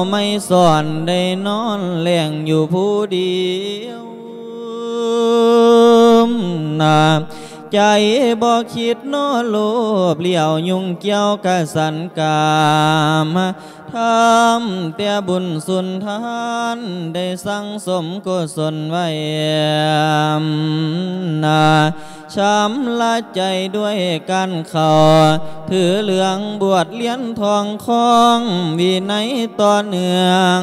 ໄມສອນໄດ້ນອນແລງຢູ່ຜູ້ດຽວນາ ໃຈບໍ່ຄິດເນາະໂລບລ້ຽວ ຫຍຸ້ງກ່ຽວກະສັນກາມທຳ ແຕ່ບຸນສຸນທານໄດ້ສັ່ງສົມກຸສົນໄວ້ນາ ຊຳລະໃຈດ້ວຍການເຂົ້າ ຖືເຫຼືອງບວດລຽນທ່ອງຄອງ ວິໄນຕໍ່ເນື່ອງ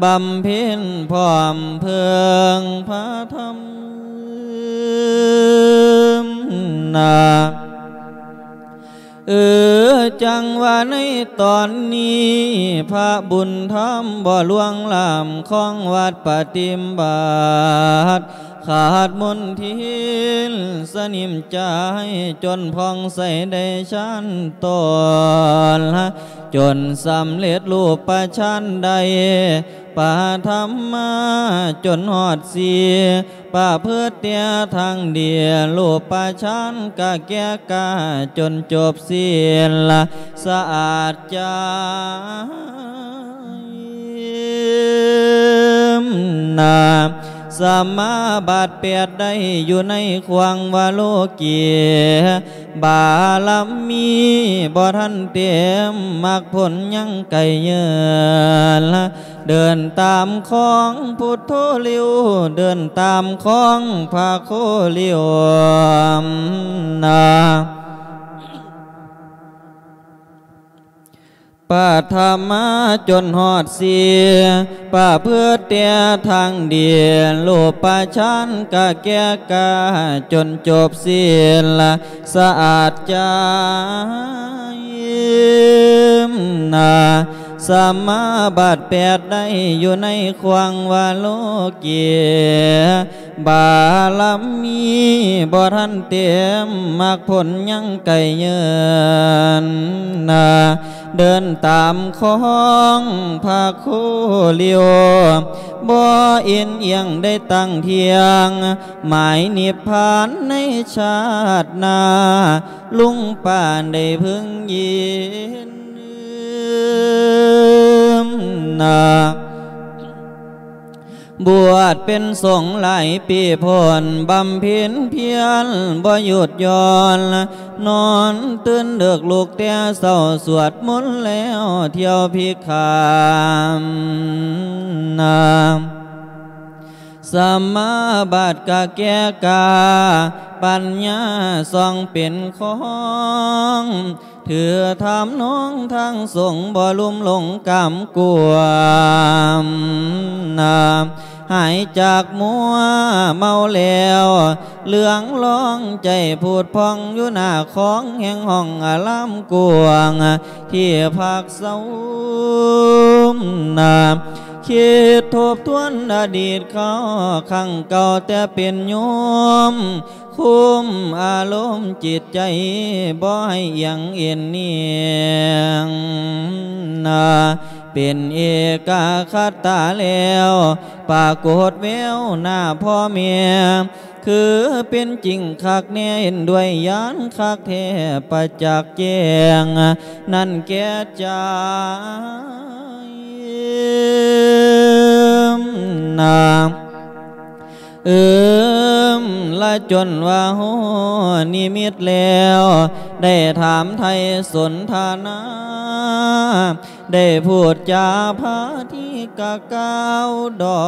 ບຳເພັນພ້ອມເພິ່ງພະທຳນາ ເອີ ຈັ່ງວ່າໃນຕອນນີ້ ພະບຸນທຳບໍ່ລວງລ້ຳ ຄອງວັດປະຕິບັດ ຂາດມົນທິນສະໜິມໃຈ ຈົນຜ່ອງໃສໄດ້ຊານໂຕລະ ຈົນສຳເລັດຮູບປະຊານໄດ້ ປະທຳມາຈົນຮອດສີ່ ປະພຶດແຕ່ທາງດີ ຮູບປະຊານກະແກ່ກ້າ ຈົນຈົບສິ້ນລະສະອາດໃຈນາ ສະມາບັດແປດໄດ້ຢູ່ໃນຂວາງວະໂລກີ ບາລະມີບໍ່ທັນເຕັມ ມັກຜົນຍັງໄກເຍີນ ເດີນຕາມຂອງພຸດໂທລິວ ເດີນຕາມຂອງພະໂຄລິວນາ ປະທຳມາຈົນຮອດສີ່ ປະພຶດແຕ່ທາງດີ ຮູບປະຊານກະແກ່ກ້າ ຈົນຈົບສິ້ນລະສະອາດໃຈນາ ສະມາບັດແປດໄດ້ຢູ່ໃນຂວາງວະໂລກີ ບາລະມີບໍ່ທັນເຕັມ ມັກຜົນຍັງໄກເຍີນນາ ເດີນຕາມຂອງພະໂຄລິວ ບໍ່ເອັນອຽງໄດ້ຕັ້ງທ່ຽງ ໝາຍນິບພານໃນຊາດໜ້າ ລຸງປານໄດ້ເພິ່ງຍິນນາ ບວດເປັນສົງຫຼາຍປີພົ້ນ ບຳເພັນພຽນບໍ່ຢຸດຢ່ອນ ນອນຕື່ນເດິກລຸກແຕ່ເຊົ້າ ສວດມົນແລ້ວທ່ຽວພິກຂານາ ສະມາບັດກະແກ່ກ້າ ປັນຍາສ່ອງເປັນຂອງ ຖືທຳນອງທາງສົງ ບໍ່ລຸ່ມຫຼົງກາມກວມນາ ຫາຍຈາກມົວເມົາແລ້ວ ເຫຼືອງລອງໃຈຜູດຜ່ອງ ຢູ່ໜ້າຂອງແຫ່ງຫ້ອງອາລາມກວ້າງ ທີ່ພັກເຊົານາ ຄິດທົບທວນອະດີດເກົ່າ ຄັ້ງເກົ່າແຕ່ເປັນໂຍມ ຄຸມອາລົມຈິດໃຈ ບໍ່ໃຫ້ອຽງເອັນນຽງນາ ເປັນເອກະຄະຕາແລ້ວ ປາກົດແວວໜ້າພໍ່ແມ່ ຄືເປັນຈິງຄັກແນ່ ເຫັນດ້ວຍຍານຄັກແທ້ ປະຈັກແຈ້ງນັ້ນແກ່ໃຈນາ ເອີມລະຈົນວ່າຮູ້ນິມິດແລ້ວ ໄດ້ຖາມໄຖ່ສົນທະນາ ໄດ້ພູດຈາພາທີກະກ່າວດອ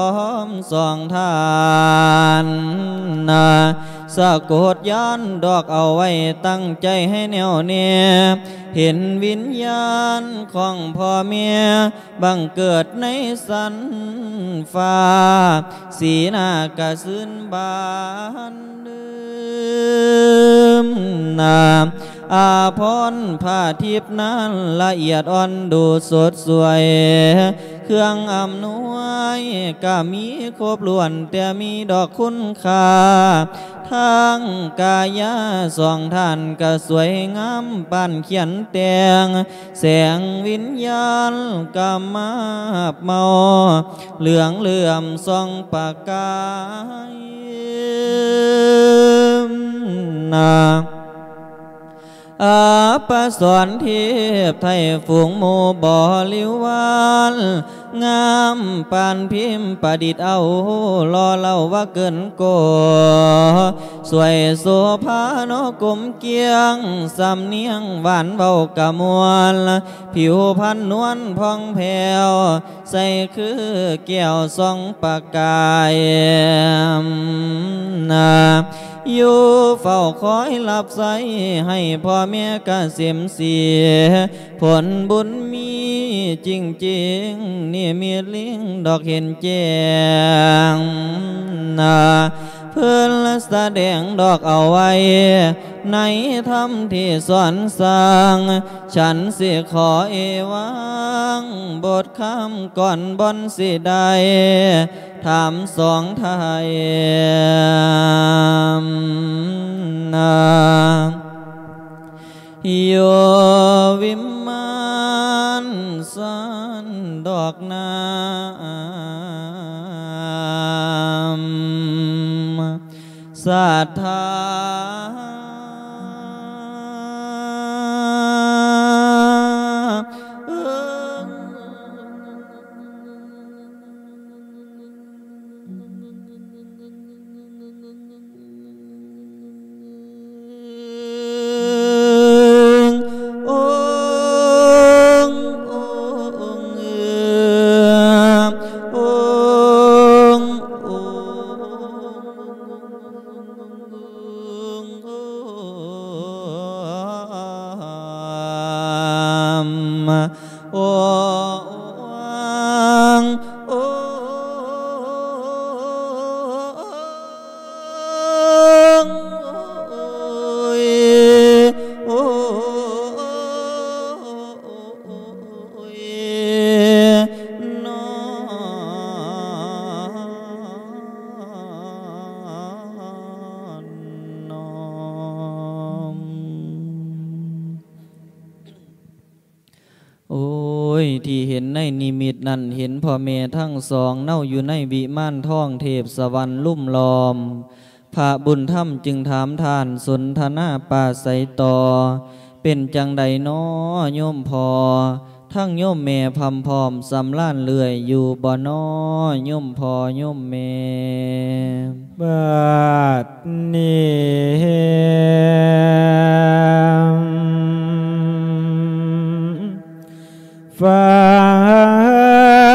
ມສອງທ່ານນາ ສະກົດຍານດອກເອົາໄວ້ ຕັ້ງໃຈໃຫ້ແໜ້ວແນ່ ເຫັນວິນຍານຂອງພໍ່ແມ່ ບັງເກີດໃນຊັ້ນຟ້າ ສີໜ້າກະຊື່ນບານເດີມນາ ອາພອນຜ້າທິບນັ້ນລະອຽດອ່ອນດູສົດສວຍ ເຄື່ອງອຳນວຍກະມີຄົບຖ້ວນ ແຕ່ມີດອກຄຸນຄ່າ ທາງກາຍາສອງທ່ານກະສວຍງາມປານຂຽນແຕ່ງ ແສງວິນຍານກະມາບເມົາ ເຫຼືອງເຫຼື້ອມສ່ອງປະກາຍນາ ອັບປະສອນເທບໄທຝູງໝູ່ບໍລິວານ ງາມປານພິມປະດິດເອົາ ຫຼໍ່ເລົ່າວ່າເກີນກໍ ສວຍໂສພາເນາະກົມກຽງ ສຳນຽງຫວານເວົ້າກະມ່ວນ ຜິວພັນນວນຜ່ອງແຜ້ວ ໃສຄືແກ້ວສ່ອງປະກາຍ ນາ ຢູ່ເຝົ້າຄອຍຮັບໃຊ້ໃຫ້ພໍ່ແມ່ກະເສມສີ ຜົນບຸນມີຈິງໆ ນິມິດລິງດອກເຫັນແຈ້ງ ນາ ເພິ່ນສະແດງດອກເອົາໄວ້ ໃນທຳທີ່ສອນສ້າງ ສັນຊິຂໍເອວັງ ບົດຄຳກ່ອນບ່ອນຊິໄດ້ ຖາມສອງໄທ ນາ ຢູ່ວິມານສັນດອກນ້ຳ ສັດທາ ໂອ້ຍ ທີ່ເຫັນໃນນິມິດນັ້ນ ເຫັນພໍ່ແມ່ທັງສອງເນົາຢູ່ໃນວິມານທອງເທບສະຫວັນລຸມລ້ອມ ພະບຸນທຳຈຶ່ງຖາມທ່ານສົນທະນາປາໄສຕໍ່ ເປັນຈັ່ງໃດນໍໂຍມພໍ່ ທັງໂຍມແມ່ພ້ອມພ້ອມສຳລານເລື້ອຍຢູ່ບໍ່ນໍໂຍມພໍ່ໂຍມແມ່? ບາດນີ້ ຟັ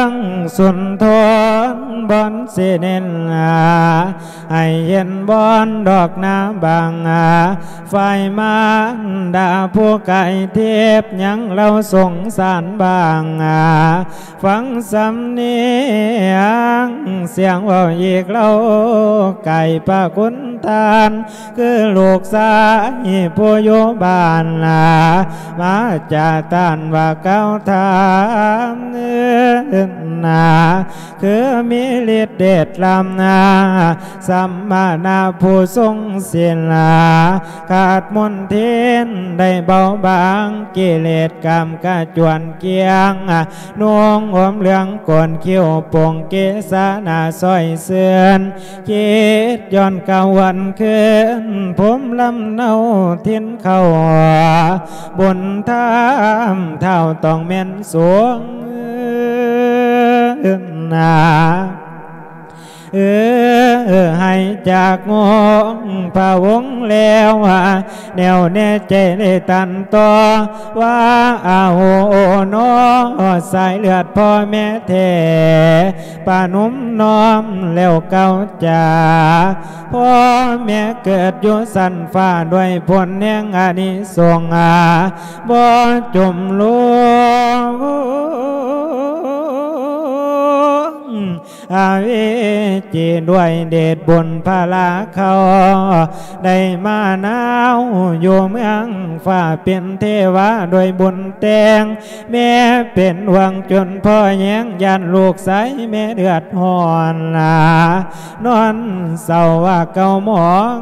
ງສຸນທອນບ່ອນຊິເນັ້ນ ໃຫ້ເຫັນບ່ອນດອກນາບາງ ຝ່າຍມານດາຜູ້ກາຍທິບ ຍັງເລົ່າສົງສານບາງ ຟັງສຳນຽງສຽງເວົ້າອີກເລົ່າ ກາຍພະຄຸນທ່ານ ຄືລູກຊາຍຜູ້ຢູ່ບ້ານ ມາຈາຕ້ານວ່າກ່າວຖາມ ນາ ຄືມີລິດເດດລ້ຳນາ ສຳມະນະຜູ້ຊົງສິນ ຂາດມົນທິນໄດ້ເບົາບາງ ກິເລດກາມກະຈວນກ້ຽງ ນຸ່ງຫົ່ມເຫຼືອງໂກນຄິ້ວ ປົງເກສາໜ້າຊ້ອຍເຊື່ອນ ຄິດຍ້ອນກາວວັນຄືນ ພູມລຳເນົາຖິ່ນເຂົ້າ ບຸນທຳທ້າວຕ້ອງແມ່ນສູງ ນາ ເອີ ໃຫ້ຈາກງົງພະວົງແລ້ວ ແນວແນ່ໃຈໄດ້ຕັນຕໍ່ ວ່າອາໂຫນໍ ສາຍເລືອດພໍ່ແມ່ແທ້ ປະນົມນ້ອມແລ້ວກ່າວຈາ ພໍ່ແມ່ເກີດຢູ່ຊັ້ນຟ້າ ດ້ວຍຜົນແຫ່ງອານິສົງ ບໍ່ຈົມລົງ ອາເວຈີ ດ້ວຍເດດບຸນພະລາເຂົາ ໄດ້ມານາວຢູ່ເມືອງຟ້າ ເປັນເທວາດ້ວຍບຸນແຕ່ງ ແມ່ເປັນຫວັງຈົນພໍ່ແຍງ ຢ້ານລູກຊາຍແມ່ເດືອດຮ້ອນ ນອນເສົ້າວ່າເກົ່າໝອງ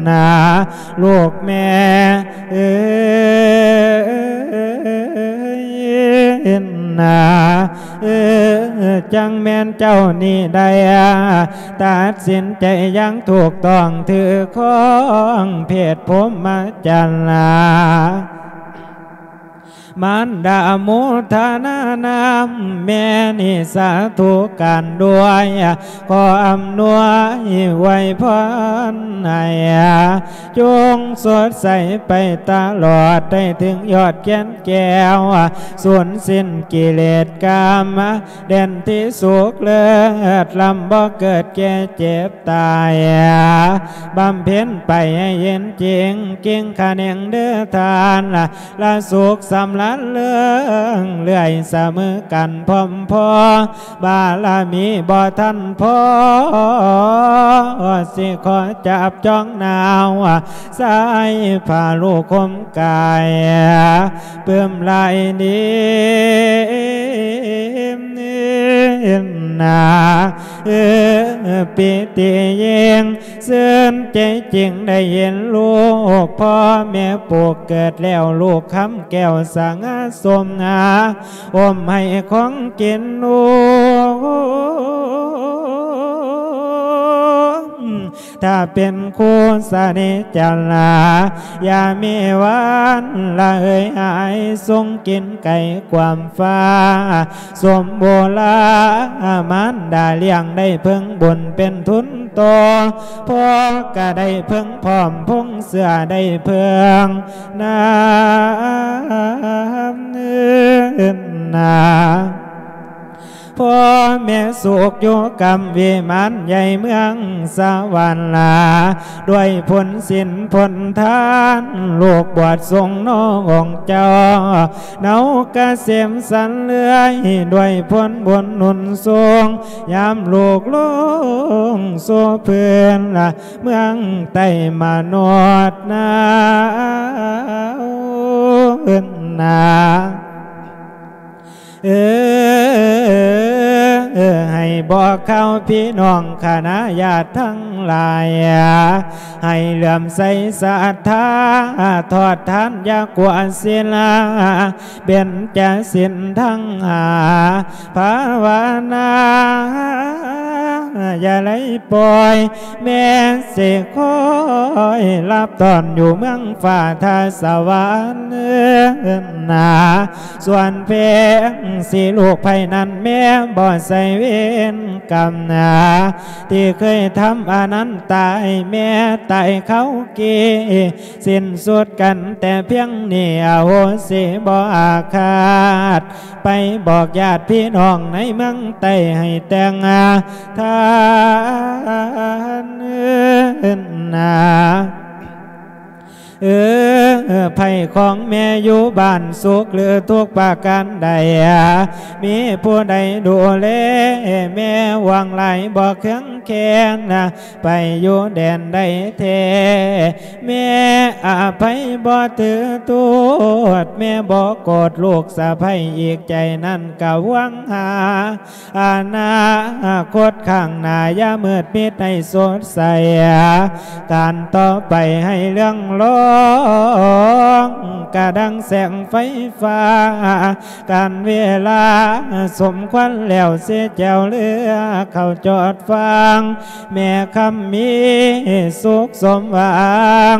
ນາ ລູກແມ່ເອີຍ ເອີ ຈັ່ງແມ່ນເຈົ້ານີ້ໄດ້ ຕັດສິນໃຈຢ່າງຖືກຕ້ອງ ຖືຄອງເພດພົມມະຈັນລາ ມານດາໂມທະນານຳແມ່ນີ້ສາທຸການດ້ວຍ ຂໍອຳນວຍອວຍພອນໃຫ້ ຈົ່ງສົດໃສໄປຕະຫຼອດ ໄດ້ເຖິງຍອດແກ່ນແກ້ວ ສູນສິ້ນກິເລດກາມ ແດນທີ່ສຸກເລີດ ລຳບໍ່ເກີດແກ່ເຈັບຕາຍ ບຳເພັນໄປໃຫ້ເຫັນຈິງ ກິ່ງຂະແໜງເດີທ່ານ ລະສຸກສຳລານເລີງເລື່ອຍ ສະເໝີກັນພ້ອມພໍ ບາລະມີບໍ່ທັນພໍ ຊິຂໍຈັບຈອງນາວ ສາຍຜ້າລູກຫົ່ມກາຍ ປຶ້ມຫຼາຍນີ້ນາ ເອີ ປີຕິຍິ່ງ ຊື່ນໃຈຈິງໄດ້ເຫັນລູກ ພໍ່ແມ່ປູກເກີດແລ້ວ ລູກຄຳແກ້ວສະຫງ່າສົມຫາ ອົມໃຫ້ຂອງກິນລູກ ຖ້າເປັນຄູ່ສະເນຈະລາ ຢ່າມີວັນລະເຫີຍຫາຍ ຊົງກິນໄກ່ກວາມຟ້າ ສົມບູລາ ມານດາລ້ຽງໄດ້ເພິ່ງບຸນເປັນທຶນຕໍ່ ພໍ່ກະໄດ້ເພິ່ງພ້ອມ ພົງເສື້ອໄດ້ເພິ່ງນາ ນາ ພໍ່ແມ່ສຸກຢູ່ກຳວິມານໃຫຍ່ເມືອງສະຫວັນລາ ດ້ວຍຜົນສິນຜົນທານ ລູກບວດສົງນ້ອງເຈົ້າ ເນົາກະເສມສັນເລື່ອຍ ດ້ວຍຜົນບຸນໜູນສູງ ຍາມລູກລົງສູ່ພື້ນລະ ເມືອງໃຕ້ມະນຸດນາ ນາ ເອີ ໃຫ້ບອກຂ່າວພີ່ນ້ອງຄະນະຍາດທັງຫຼາຍ ໃຫ້ເຫຼື້ອມໃສສັດທາ ທອດທານຢ່າກົວສິນລາ ເບັນຈະສິນທັງຫ້າ ພາວະນາ ຢ່າໄດ້ປ່ອຍ ແມ່ຊິຄອຍຮັບຕ້ອນຢູ່ເມືອງຟ້າທ່າສະຫວັນນາ ສ່ວນເພງຊິລູກໃຜນັ້ນ ແມ່ບໍ່ໃສ່ເວນກຳນາ ທີ່ເຄີຍທຳອະນັນຕາຍ ແມ່ຕາຍເຂົາກີ້ ສິ້ນສຸດກັນແຕ່ພຽງນີ້ ອະໂຫສິບໍ່ອາຄາດ ໄປບອກຍາດພີ່ນ້ອງໃນເມືອງໃຕ້ໃຫ້ແຕ່ງທານນາ ເອີ ໄພຂອງແມ່ຢູ່ບ້ານສຸກຫຼືທຸກປະການໃດ ມີຜູ້ໃດດູແລແມ່ຫວັງຫຼາຍບໍ່ເຄືອງແຄ້ນ ໄປຢູ່ແດນໃດແທ້ ແມ່ອະໄພບໍ່ຖືໂທດ ແມ່ບໍ່ໂກດລູກສະໃພ້ອີກ ໃຈນັ້ນກະຫວັງຫາອະນາຄົດຂ້າງໜ້າ ຢ່າມືດມິດໃຫ້ສົດໃສ ການຕໍ່ໄປໃຫ້ເລື່ອງລອງ ກະດັ່ງແສງໄຟຟ້າ ການເວລາສົມຄວນແລ້ວ ເສແຈວເຫຼືອເຂົ້າຈອດຟັງ ແມ່ຄຳມີສຸກສົມຫວັງ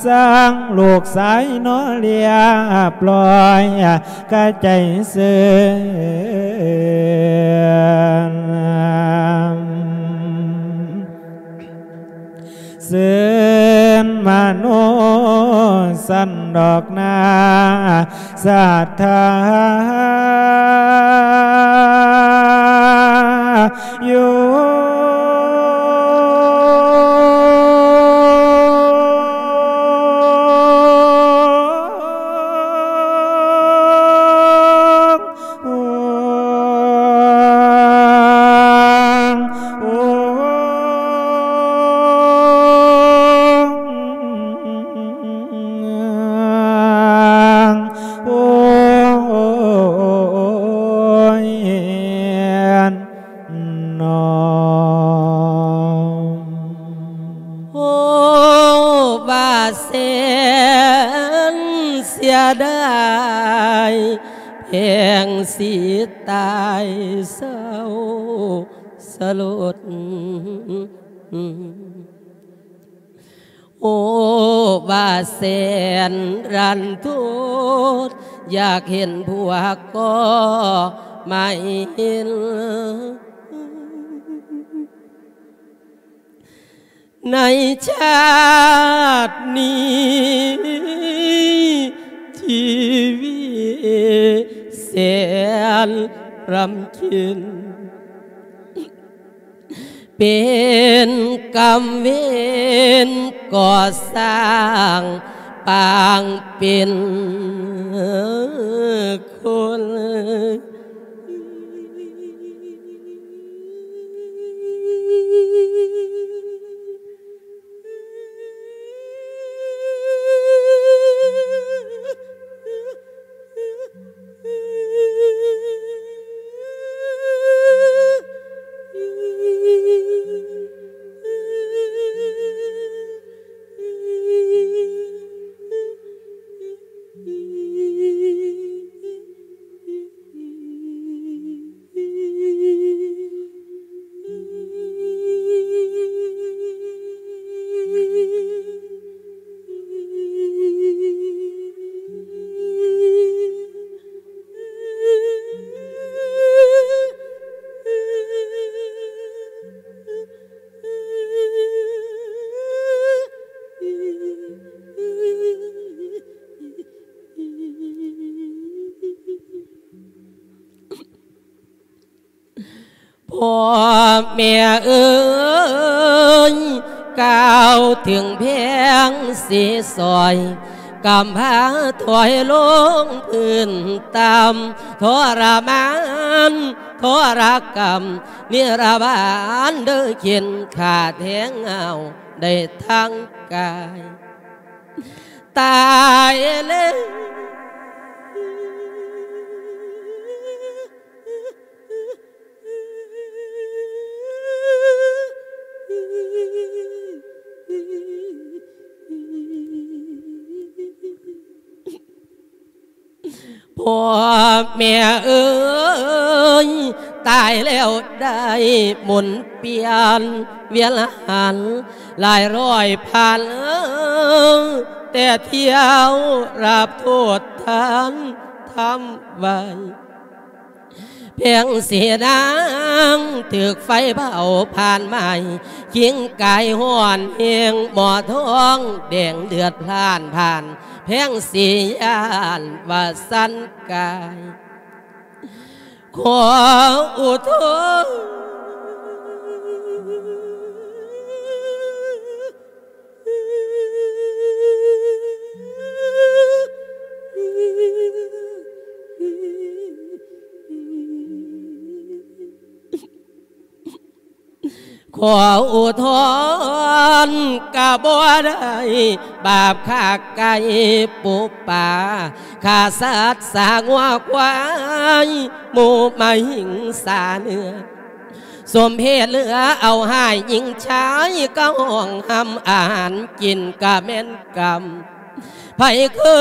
ສ້າງລູກຊາຍໜໍລຽບລ້ອຍ ກະໃຈຊື່ນ ຊື່ນມະໂນສັນດອກນາ ສັດທາຢູ່ ຕາຍເສົ້າສະຫຼົດ. ໂອ້ ວ່າແສນລັນທົດ ຢາກເຫັນພວກກໍໄມ່ເຫັນ ໃນຊາດນີ້ ຊີວິດແສນລຳເຄັນ ເປັນກຳເວນກໍ່ສ້າງ ປາງເປັນຄົນ. ພໍ່ແມ່ເອີຍ ກ່າວເຖິງແພງເສສອຍ ກຳພາຖອຍລົງພື້ນຕ່ຳ ທໍລະມານ ທໍລະກຳ ນິລະບານເດີ ເຂັນຂ້າແທງເອົາ ໄດ້ທັງກາຍ ຕາຍແລ້ວ. ພໍ່ແມ່ເອີຍ ຕາຍແລ້ວໄດ້ໝູນປ່ຽນວຽນຫັນ ຫຼາຍຮ້ອຍພັນແຕ່ຖ້ຽວ ຮັບໂທດທ່ານທຳໄວ້. ແພງສີນາງຖືກໄຟເຜົາຜ່ານໄໝ້ ຄິງກາຍຮ້ອນແຮງ ໝໍທອງແດງເລືອດພລ່ານຜ່ານ ແພງສີຢ້ານວ່າສັນກາຍ ຂໍອຸທົນ. ຂໍອຸທອນກະບໍ່ໄດ້ ບາບຂ້າໄກ່ປູປາ ຂ້າສັດສາງົວຄວາຍ ໝູ່ໝາຫິງສາເນື້ອ ສົມເພດເຫຼືອເອົາຮ້າຍຍິງຊາຍ ກະຫ້ອງຫ້ຳອາຫານກິນກະແມ່ນກຳ ໃຜເຄີ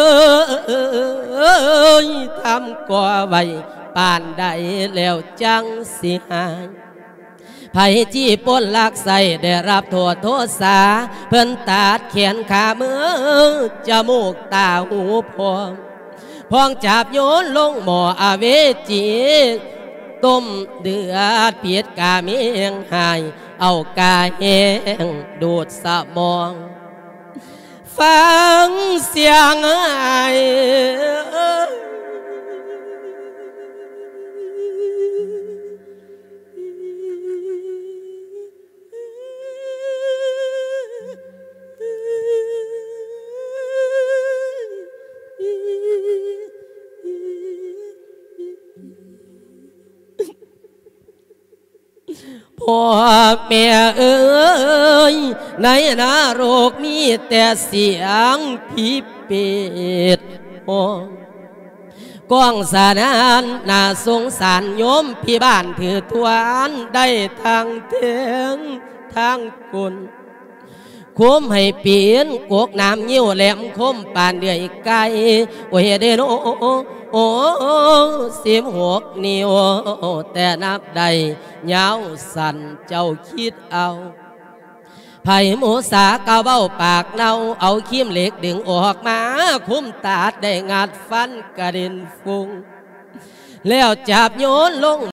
ຍທຳກໍ່ໄວ້ປານໃດແລ້ວຈັ່ງຊິຫາຍ ໃຜຈີ້ປົນລັກໄສ້ໄດ້ຮັບໂທດໂທສາ ເພິ່ນຕັດແຂນຂາມື ຈະມູກຕາຫູພອງ ພອງຈາບໂຍນລົງໝໍ້ອະເວຈີ ຕົ້ມເດືອດພິດກາເມງຫາຍ ເອົາກາແຫ້ງດູດສະໝອງ ຟັງສຽງອ້າຍ. ພໍ່ແມ່ເອີຍ ໃນນະລົກມີແຕ່ສຽງຜີເປດຮ້ອງ ກ້ອງສະໜານໜ້າສົງສານ ໂຍມພິບານຖືທວນໄດ້ທັງແທງທັງກົນ. ຄົມໃຫ້ເປັນກົກໜາມງິ້ວ ແຫຼມຄົມປານເດືອຍໄກ່ ໂອ້ຍເດໂນ ໂອ້ ສິບຫົກນິ້ວ ແຕ່ນັບໄດ້ຍາວສັ້ນ ເຈົ້າຄິດເອົາ ໃຜໝູສາກະເວົ້າປາກເນົ່າ ເອົາຄີມເຫຼັກດຶງອອກມາ ຄົມຕັດໄດ້ງັດຟັນກະເດັນຟຸ້ງ ແລ້ວຈັບໂຍນລົງ